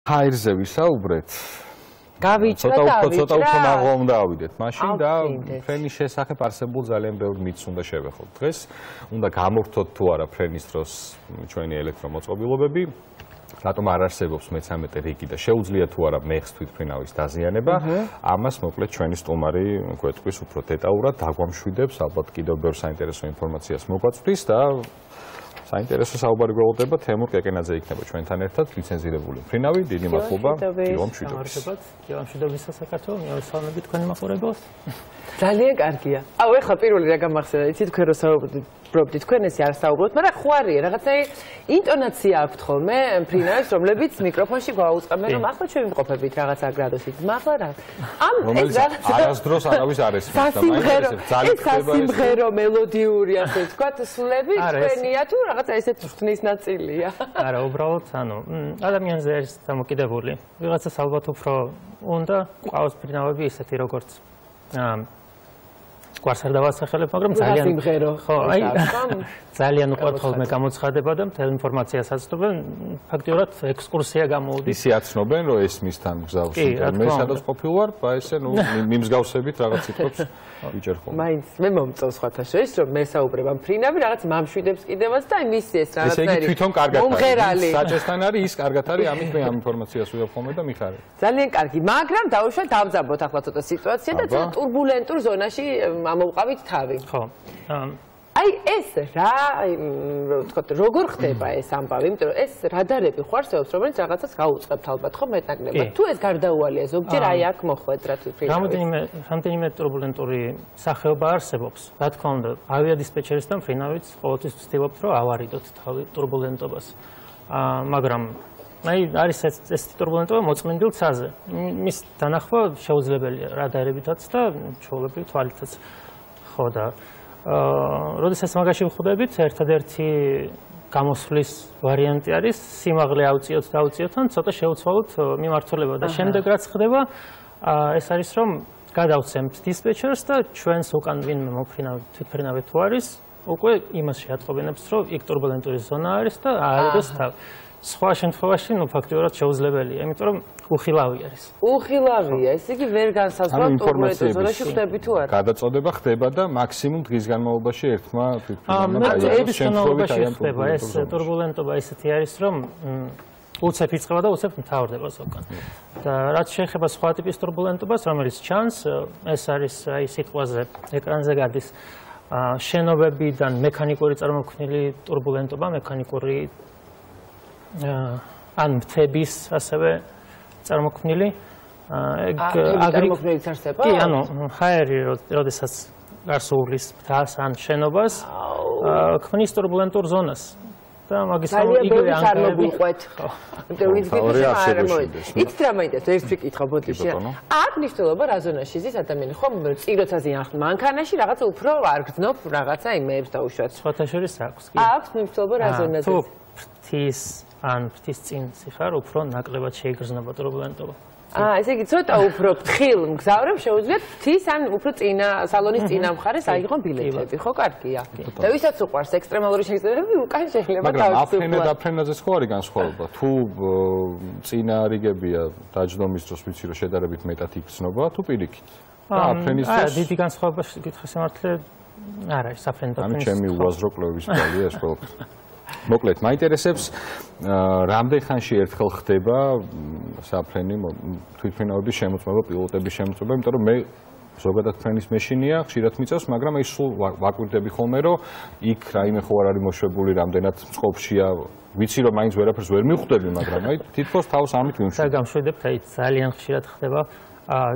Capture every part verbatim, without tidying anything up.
ჰაერზე ვისაუბრეთ. გავიჭრა და ავიჭრა. ცოტა უფრო მაღლა უნდა ავიდეთ. მაშინ და ფრენის შესახებ არსებულ ძალიან ბევრ მითს უნდა შევეხოთ. დღეს უნდა გამოვთოთ თუ არა ფრენის დროს ჩვენი ელექტრომოწყობილობები. რატომ არ არსებობს მეცამეტე რიგი და შეუძლია თუ არა მეხს თვითმფრინავის დაზიანება. ამას მოკლედ ჩვენი სტუმარი გვეტყვის უფრო დეტალურად, დაგვამშვიდებს, ალბათ კიდევ ბევრ საინტერესო ინფორმაციას მოგვაწვდის და საინტერესო საუბარი გველოდება თემურ კეკენაძე იქნება ჩვენთან ერთად ლიცენზირებული მფრინავი. დიდი მადლობა. გიო მშვიდობისას. გიო მშვიდობისას საქართველოს მეოსალმები თქვენი მაყურებელს. ძალიან კარგია. აუ ეხლა პირველი რა გამახსენდა, იცით თქვენ რო საუბრობთ, თქვენ ესე არ საუბრობთ, მაგრამ ხვარია რაღაცნაირი ინტონაცია აქვთ ხოლმე მფრინავის, რომლებიც მიკროფონში გვაუწყებენ, რომ ახლა ჩვენ ვიმყოფებით რაღაცა გრადუსით. მაგლა რა. ამ ეს რაღაცა არასდროს არავის არ ესმის და მაინტერესებს ძალიან ხდება ეს. სიმღერო მელოდიური ასე ვთქვათ, სლები თქვენია თუ რაღაცა ესეთ ღვთნის ნაწილია. არა, უბრალოდ ანუ ადამიანზე არის დამოკიდებული. ვიღაცას ალბათ უფრო უნდა ყავს მფრინავები ისეთი როგორც გვარს არ დავასახელებ, მაგრამ ძალიან სიმღერო. ხო, აი ძალიან უყვართ ხოლმე გამოცხადება და მთელ ინფორმაციას აცნობენ. ფაქტიურად ექსკურსია გამოვიდეს. ისე აცნობენ, რომ ეს მისთან გზავში. მე სადაც ყოფილ ვარ, ესე ნუ მიმსგავსებით რაღაც სიტყვებს ვიჭერ ხოლმე. მაინც მე მომწონს სხვათა შორის, რომ მე საუბრებ ამ მფრინავი, რაღაც მამშვიდებს კიდევაც და იმის ეს რაღაცნაირი. ესე იგი თვითონ კარგად მომღერალი. საჭესთან არის, ის კარგად არის, ამით მე ამ ინფორმაციას ვიღებ ხოლმე და მიხარებ. ძალიან კარგი, მაგრამ დაუშვათ დავძაბოთ ახლა ცოტა სიტუაცია და ცოტა ტურბულენტურ ზონაში ამოვყავით თავი. ხო. აი ეს რა, ვთქვათ, როგორ ხდება ეს ამბავი, იმიტომ რომ ეს რადარები ხო არსებობს, რომელიც რაღაცას გაუწყებთ ალბათ ხო მეტნაკლებად. თუ ეს გარდაუვალია, ზოგჯერ აი აქ მოხვედრათ ვფრინავი. რამდენიმე რამდენიმე ტურბულენტური სახეობა არსებობს. რა თქმა უნდა, ავიადისპეჩერის და მფრინავიც ყოველთვის ვცდილობთ, რომ ავარიდოთ თავი ტურბულენტობას. მაგრამ აი არის ეს ტურბულენტობა მოწმინდილ ცაზე. მის დანახვა შეუძლებელია რადარებითაც და ჩვეულებრივ თვალითაც. ხო და აა როდესაც მაგაში ვხვდებით, ერთადერთი გამოსვლის ვარიანტი არის სიმაღლე ავწიოთ და ავწიოთ ან ცოტა შევცვალოთ მიმართულება და შემდეგ რაც ხდება, ეს არის რომ გადავცემთ დისპეჩერს და ჩვენს უკან ვინმე მოფრინავი თვითმფრინავი თუ არის, უკვე იმას შეატყობინებს, რომ იქ ტურბულენტური ზონა არის და აეროს თავი. სხვა შემთხვევაში, ნუ ფაქტიურად შეუძლებელია, იმიტომ რომ უხილავი არის. უხილავია, ესე იგი ვერ განსაზღვრავთ ტურბულენტურ ზონაში ხდები თუ არა. გადაწოდება ხდება და მაქსიმუმ დღის განმავლობაში ერთმა თვითმფრინავმა დაიწყოს შემთხვევაში ხდება ეს ტურბულენტობა ისეთი არის, რომ უცებ იწყება და უცებ მთავრდება ზოგან. და რაც შეეხება სხვა ტიპის ტურბულენტობას, რომელიც ჩანს, ეს არის აი სიტყვაზე ეკრანზე გადის შენობებიდან მექანიკური წარმოქმნილი ტურბულენტობა, მექანიკური ან მთების ასევე წარმოქმნილი ეგ წარმოქმნილი არსება? კი, ანუ ჰაერი როდესაც გასულის მთას ან შენობას ქმნის ტურბულენტურ ზონას და მაგისტრალ იგივე ანგარები ყვეთ. იმიტომ ვიცით არ მოიდეს. იცით რა მაინტერესებს ერთ ვიკითხო ბოდიში. აქ მნიშვნელობა რა ზონაში ზის ადამიანი ხომ წიროცაზე ახ მანქანაში რაღაცა უფრო არ გძნობ რაღაცა იმეებს დაუშვათ. სხვათა შორის აქვს კი. აქვს მნიშვნელობა რა ზონაზე. თუ ფრთის ან ფრთის წინ სიხარ უფრო ნაკლებად შეიგრძნობა ტურბულენტობა. აა, ესე იგი ცოტა უფრო ფრთხილ მგზავრებს შეუძლიათ ფრთის ან უფრო წინა სალონის წინა მხარეს აიღონ ბილეთები, ხო კარგია. და ვისაც უყვარს ექსტრემალური შეგრძნებები, უკან შეიძლება თავის. მაგრამ აფრენა და აფრენაზეც ხო არის განსხვავება. თუ წინა რიგებია დაჯდომის დროს ვიცი რომ შედარებით მეტად იგრძნობა, თუ პირიქით. და აფრენის დროს აა, დიდი განსხვავება გითხრა სიმართლე არ არის აფრენა და აფრენის. ამი ჩემი უაზრო კვლევის კვალია ეს ყველაფერი. მოკლედ, მაინტერესებს რამდენ ხანში ერთხელ ხდება საფრენი თვითმფრინავების შემოწმება, პილოტების შემოწმება, იმიტომ რომ მე ზოგადად ფრენის მეშინია, ხშირად მიწევს, მაგრამ აი სულ ვაკვირდები ხოლმე, რომ იქ რაიმე ხო არ არის მოშვებული, რამდენად წყობშია, ვიცი რომ მაინც ვერაფერს ვერ მივხვდები, მაგრამ აი თითქოს თავს ამით ვიმშვიდობ. და გამშვიდებთ, აი ძალიან ხშირად ხდება.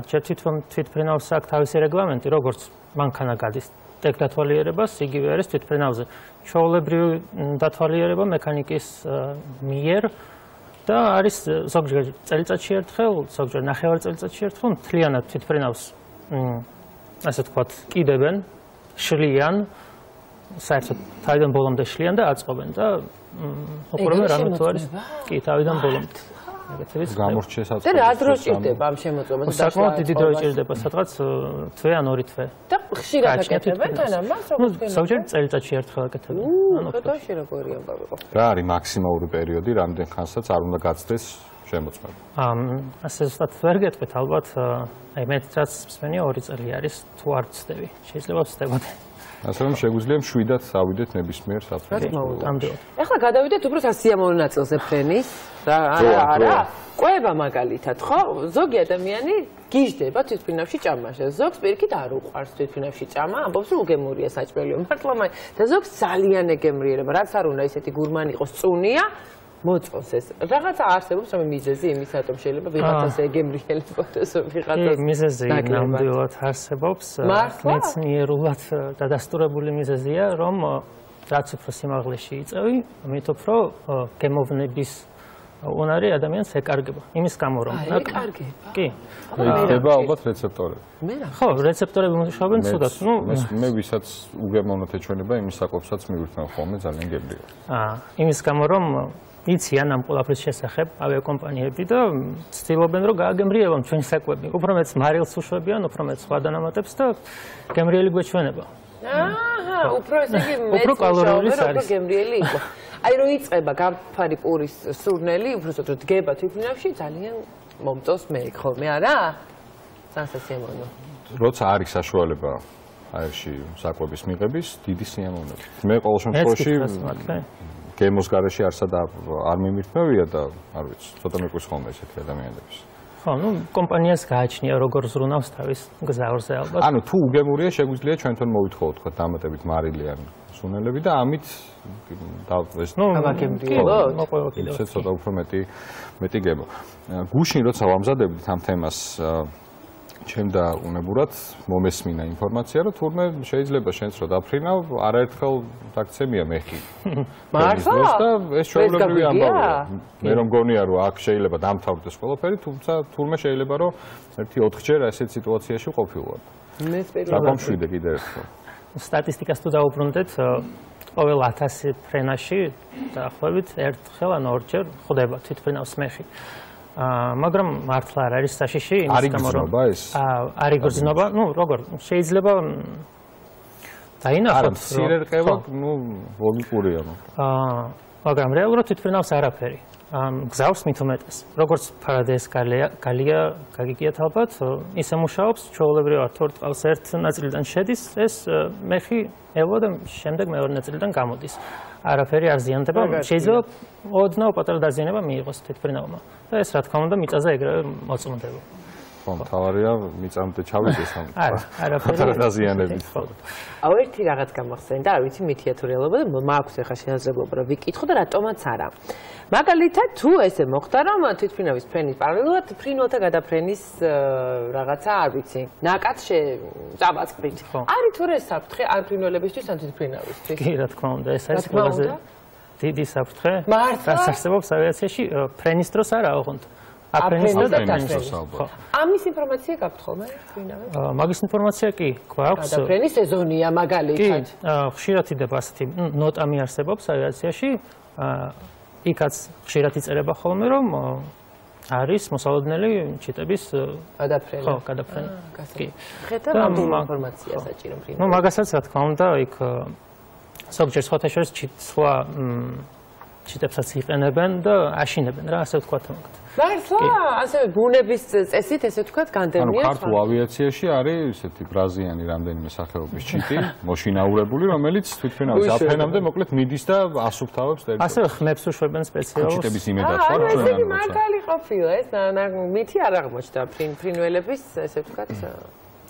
ჯერ თვითონ თვითმფრინავს აქვს თავისი რეგლამენტი, როგორც მანქანა გადის ტექ დათვალიერებას, იგივე არის თვითმფრინავზე. ჩვეულებრივი დათვალიერება მექანიკის მიერ და არის ზოგჯერ წელიწადში ერთხელ, ზოგჯერ ნახევარ წელიწადში ერთხელ მთლიანად თვითმფრინავს ასე ვთქვათ, კიდებენ, შლიან, საერთოდ თავიდან ბოლომდე შლიან და აწყობენ და უყურებენ რამე თუ არის კი თავიდან ბოლომდე. გამორჩეს აწყობენ. და რა დრო ჭირდება ამ შემოწმებას? საკმაოდ დიდი დრო ჭირდება, სადღაც თვე ან ორი თვე. და ხშირად აკეთებენ თან ამას, როგორც თქვენ? ზოგჯერ წელიწადში ერთხელ აკეთებენ. ანუ ხეთოში როგორი ამბავი იყო? რა არის მაქსიმალური პერიოდი, რამდენ ხანსაც არ უნდა გაცდეს შემოწმება. ასე ზუსტად ვერ გეტყვით, ალბათ აი მე რაც მსმენია ორი წელი არის თუ არ ვცდები. შეიძლება ვცდებოდე. ასე რომ შეგვიძლია შვიდად ავიდეთ ნებისმიერ საფრთხეს. ამდენად. ეხლა გადავიდეთ უფრო სასიამოვნო ნაწილზე ფრენის. რა არა არა. ყვება მაგალითად, ხო? ზოგი ადამიანი გიждდება თვითფრინავში ჭამაში. ზოგს პირიქით არ უყვარს თვითფრინავში ჭამა, ამბობს რომ უგემურია საჭმელია. მართლა მაინც და ზოგს ძალიან ეგემრიერება, რაც არ უნდა ისეთი გურმანი იყოს, წუნია. მოწონს ეს. რაღაცა არსებობს რომ მიზეზი იმის რატომ შეიძლება ვიღაცას ეგემრიელებოდეს ვიღაცას. კი, მიზეზი ნამდვილად არსებობს. მეცნიერულად დადასტურებული მიზეზია, რომ რაც უფრო სიმაღლეში იწევი, მით უფრო გემოვნების უნარი ადამიანს ეკარგება. იმის გამო რომ ეკარგება. კი. იქნება ალბათ რეცეპტორები. მე რა. ხო, რეცეპტორები მუშაობენ ცუდად. ნუ მე ვისაც უგემოვნოთ ეჩვენება, იმის საკופსაც მივირთმევ ხოლმე ძალიან გემრიელი. აა, იმის გამო რომ იციან ამ ყველაფრის შესახებ ავიაკომპანიები და ცდილობენ რომ გააგემრიელონ ჩვენი საკვები. უფრო მეც მარილს უშვებიან, უფრო მეც სხვა დანამატებს და გემრიელი გვეჩვენება. აჰა, უფრო ესე იგი მეც კალორიულის არის. გემრიელი იყო. აი რომ იწება გამფარი პურის სურნელი, უბრალოდ რომ დგება თვითმფრინავში ძალიან მომწონს მე ხოლმე, არა? სასიამოვნო. როცა არის საშუალება აერში საკვების მიღების, დიდი სიამოვნებაა. მე ყოველ შემთხვევაში გემოს გარეშე არსად არ მიმირთმევია და არ ვიცი, ცოტა მეკვრის ხოლმე ესეთი ადამიანების. ხო, ну, კომპანიას გააჩნია როგორ ზრუნავს თავის გზავრზე ალბათ. ანუ თუ უგემურია, შეგვიძლია ჩვენთან მოვითხოვოთ თქვა დამატებით მარილი ან სუნელები და ამით და ეს ну, გამაგემრიელოთ. მოყვება კიდევ. ისე ცოტა უფრო მეტი მეტი გემო. გუშინ როცა ვამზადებდით ამ თემას ჩემ და უნებურად მომესმინა ინფორმაცია, რომ თურმე შეიძლება შენც რო დაფრინავ, არაერთხელ დაგცემია მეხი. მართლა? და ეს ჩვეულებრივი ამბავია. მე რომ გონია რომ აქ შეიძლება დამთავრდეს ყველაფერი, თუმცა თურმე შეიძლება რომ ერთი ოთხჯერ ასეთ სიტუაციაში ყოფილვარ. მე სპეციალურად დაგამშვიდე კიდევ ერთხელ. სტატისტიკას თუ დავუბრუნდეთ, ყოველ ათასი ფრენაში დაახლოებით ერთხელ ან ორჯერ ხდება თვითფრინავს მეხი. მაგრამ მართლა არ არის საშიში იმის გამო რომ არ იგრძნობა, ну, როგორ შეიძლება დაინახოთ სირერყევა, ну, ლოგიკურია. აა, მაგრამ რეალურად თვითფრინავს არაფერი. გზავს მით უმეტეს. როგორც ფარადეის გალია გაგიგიათ ალბათ, ისე მუშაობს, ჩვეულებრივად თორ ტყავს ერთ ნაწილიდან შედის, ეს მეხი ელვა და შემდეგ მეორე ნაწილიდან გამოდის. არაფერი არ ზიანდება, შეიძლება ოდნავ პატარა დაზიანება მიიღოს თვითფრინავმა. და ეს რა თქმა უნდა მიწაზე ეგრევე მოწმდება. ხო, თავარია მიწამდე ჩავიდეს ამ არაფერი დაზიანებით. აუ ერთი რაღაც გამახსენდა, არ ვიცი მითია თუ რეალობა და მაქვს ახლა შესაძლებლობა რომ ვიკითხო და რატომაც არა. მაგალითად თუ ესე მოხდა რომ თვითფრინავის ფრენის პარალელურად ფრინველთა გადაფრენის რაღაცა არ ვიცი, ნაკადს წაბაწყდით. არის თუ რა საფრთხე ან ფრინველებისთვის ან თვითფრინავისთვის? კი, რა თქმა უნდა, ეს არის ყველაზე დიდი საფრთხე. მართლა? რაც არსებობს ავიაციაში ფრენის დროს არა, ოღონდ. აფრენის და ფრენის დროს. ამის ინფორმაცია გაქვთ ხოლმე ფრინავებს? მაგის ინფორმაცია კი გვაქვს. გადაფრენის სეზონია მაგალითად. კი, ხშირად იდება ასეთი ნოტა მიარსებობს ავიაციაში. იქაც ხშირად იწერება ხოლმე რომ არის მოსალოდნელი ჩიტების გადაფრენა. ხო, გადაფრენა. კი. ხედავ ამ ინფორმაცია საჭირო ფრინავებს. ნუ მაგასაც რა თქმა უნდა იქ ზოგჯერ სხვათა შორის სხვა ჩიტებსაც იყენებენ და აშინებენ რა, ასე ვთქვათ მაგათ. მართლა? ასევე ბუნების წესით ესე ვთქვათ განდევნია. ანუ ქართულ ავიაციაში არის ესეთი ბრაზიანი რამდენიმე სახეობის ჩიტი, მოშინაურებული, რომელიც თვითფრინავის აფრენამდე მოკლედ მიდის და ასუფთავებს ტერიტორიას. ასე ხმებს უშვებენ სპეციალურ ჩიტების იმედად ხო? აა, ესე იგი მაგალი ყოფილა ეს, მითი არ აღმოჩნდა ფრინველების ესე ვთქვათ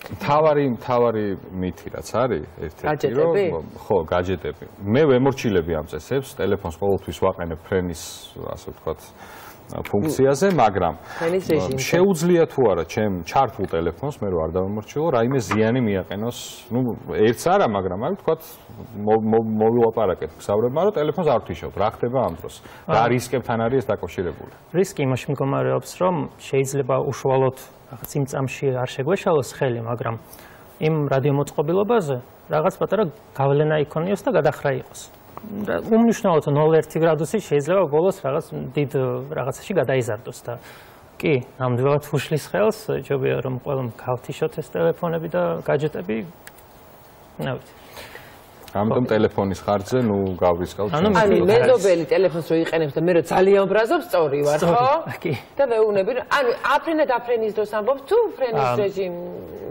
თავარი თავარი მითი რაც არის ერთ-ერთი რომ ხო გაჯეტები. მე ვემორჩილები ამ წესებს, ტელეფონს ყოველთვის ვაყენებ ფრენის ასე ვთქვათ ფუნქციაზე, მაგრამ შეუძლია თუ არა ჩემ ჩართულ ტელეფონს მე რო არ დავემორჩილო, რაიმე ზიანი მიაყენოს, ну, ერთს არა, მაგრამ აი ვთქვათ მოვილაპარაკეთ გზავრებმა, რომ ტელეფონს არ ვთიშობ, რა ხდება ამ დროს? რა რისკებთან არის ეს დაკავშირებული? რისკი იმაში მდგომარეობს, რომ შეიძლება უშუალოდ რაღაც იმ წამში არ შეგვეშალოს ხელი, მაგრამ იმ რადიომოწყობილობაზე რაღაც პატარა გავლენა იქონიოს და გადახრა იყოს. უმნიშვნელოდ ნულ ერთი გრადუსი შეიძლება ბოლოს რაღაც დიდ რაღაცაში გადაიზარდოს და კი, ნამდვილად უშლის ხელს, ჯობია რომ ყველამ გავთიშოთ ეს ტელეფონები და გაჯეტები. ნავით. ამიტომ ტელეფონის ხარჯზე ნუ გავრისკავთ. ანუ მეზობელი ტელეფონს რო იყენებს და მე რო ძალიან ბრაზობ სწორი ვარ, ხო? და მეუბნები, ანუ აფრენა დაფრენის დროს ამბობთ თუ ფრენის რეჟიმ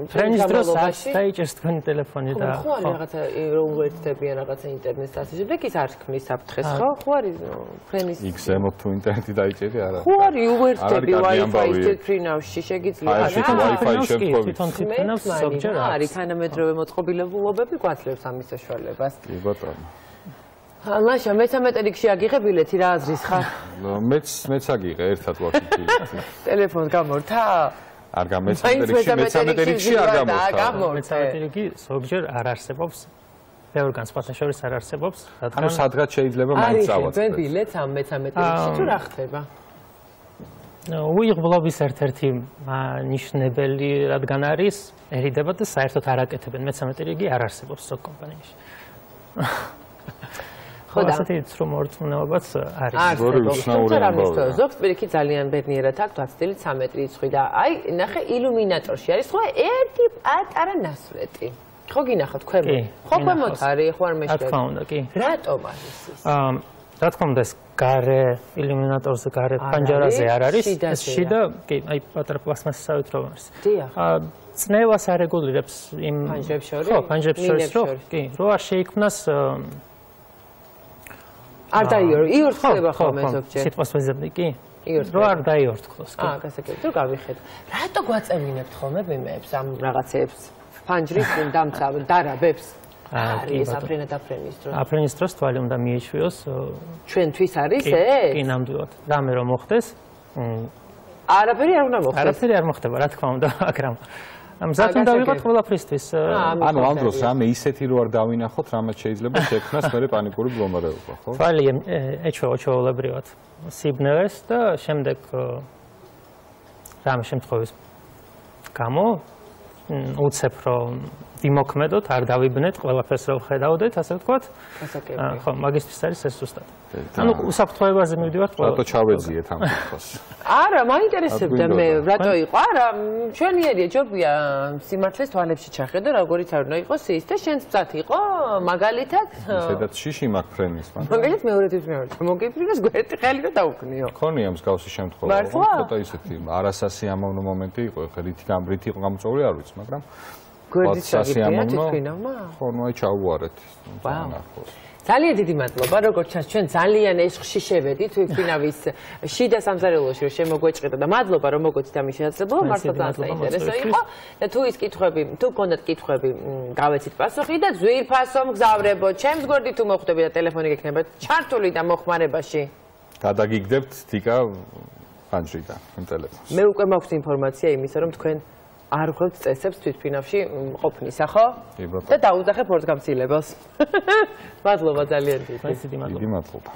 ფრენის დროს დაიჭერს თქვენი ტელეფონი და ხო არის რაღაცა რომ უერთდებიან რაღაცა ინტერნეტს ასე შემდეგ ის არ ქმნის საფრთხეს, ხო? ხო არის ფრენის იქ ზემოთ თუ ინტერნეტი დაიჭერი არა. ხო არის უერთდები Wi-Fi-ში ფრინავში შეგიძლია რა? Wi-Fi შემთხვევით თვითონ თვითონავს ზოგჯერ არის თანამედროვე მოწყობილობულობები გვაძლევს ამის საშუალებას. კი ბატონო. ლაშა მეთამეტე რიგში აგიღე ბილეთი რა აზრის ხარ? მეც მეც აგიღე ერთად ვახი ბილეთი. ტელეფონს გამორთა? არ გამეცემეტე რიგში მეთამეტე რიგში არ გამორთა. მეთამეტე რიგი ზოგჯერ არ არსებობს. ბევრგან სხვათა შორის არ არსებობს. ანუ სადღაც შეიძლება მაინც წავაწყდეს. არის ბილეთს ამ მეთამეტე რიგში თუ რა ხდება? უიღბლობის ერთ-ერთი ნიშნებელი რადგან არისერიდება და საერთოდ არ აკეთებენ მეთამეტე რიგი არ არსებობს ზოგ კომპანიაში. ხო და ასეთი რომ ორწმუნეობაც არის. როგორი უცნაური ამბავია. ზოგს პირიქით ძალიან ბედნიერად აქვს დაცდილი ცამეტი რიცხვი და აი ნახე ილუმინატორში არის ხო ერთი პატარა ნასვეტი. ხო გინახავთ ქვემოთ? ხო ქვემოთ არის ხო არ მეშლები? რა თქმა უნდა კი. რატომ არის ის? აა რა თქმა უნდა ეს გარე ილუმინატორზე გარე პანჯარაზე არ არის ეს შიდა კი აი პატარა პლასმასისავით რომ არის. დიახ. აა წნევას არეგულირებს იმ პანჯრებს შორის? ხო პანჯრებს შორის რო კი რო არ შეიქმნას არ დაიორო იორთხება ხოლმე ზოგჯერ. სიტყვას ვეზებდი კი? იორთხება. რო არ დაიორთქლოს კი. აა გასაგებია თუ გავიხედო. რატო გვაწევინებთ ხოლმე ვიმეებს ამ რაღაცეებს? ფანჯრის დამცა დარაბებს. არის აფრენა დაფრენის დროს. აფრენის დროს თვალი უნდა მიეჩვიოს. ჩვენთვის არის ეს? კი ნამდვილად. რამე რომ მოხდეს არაფერი არ უნდა მოხდეს. არაფერი არ მოხდება რა თქმა უნდა, მაგრამ მზად უნდა ვიყოთ ყველაფრისთვის. ანუ ამ დროს რამე ისეთი რო არ დავინახოთ, რამაც შეიძლება შექმნას მერე პანიკური მდგომარეობა, ხო? თვალი ეჩვევა ჩვეულებრივად სიბნელეს და შემდეგ რამე შემთხვევის გამო უცებ რომ ვიმოქმედოთ, არ დავიბნეთ, ყველაფერს რომ ხედავდეთ, ასე ვთქვათ. ხო, მაგისტრის არის ეს ზუსტად. ანუ უსაფრთხოებაზე მივდივართ ყველა. რატო ჩავეძიეთ ამ კითხვას? არა, მაინტერესებდა მე, რატო იყო? არა, ჩვენიერია ჯობია სიმართლეს თვალებში ჩახედო, როგორიც არ უნდა იყოს ის და შენც მზად იყო, მაგალითად. ისედაც შიში მაქვს ფრენის, მაგრამ მაგალითად მეორეთვის მეორე. მოგიფრინოს გვერდი ხელი და დაუქნიო. ქონია მსგავსი შემთხვევა, ცოტა ისეთი არასასიამოვნო მომენტი იყო, ხა რითი გამრით იყო გამოწვეული არ ვიცი, მაგრამ გვერდით შეგიფრინოთ თვითკინავმა? ხო, ნუ აი ჩაუვარეთ. ძალიან დიდი მადლობა, როგორც ჩანს ჩვენ ძალიან ეშხში შევედით თვითკინავის შიდა სამზარეულოში რომ შემოგვეჭყიდა და მადლობა რომ მოგოთით ამის შესაძლებლობა, მართლა ძალიან საინტერესო იყო და თუ ის კითხვები, თუ გქონდათ კითხვები, გავეცით პასუხი და ძვირფასო მგზავრებო, ჩემს გვერდით თუ მოხვდები და ტელეფონი გექნება ჩართული და მოხმარებაში. გადაგიგდებთ თიკა ფანჯრიდან იმ ტელეფონს. მე უკვე მაქვს ინფორმაცია იმისა, რომ თქვენ არ ხვდებით წესებს თვითფრინავში ყოფნისა, ხო? და დაუძახებ ორს გამცილებელს. მადლობა ძალიან დიდი. დიდი მადლობა. დიდი მადლობა.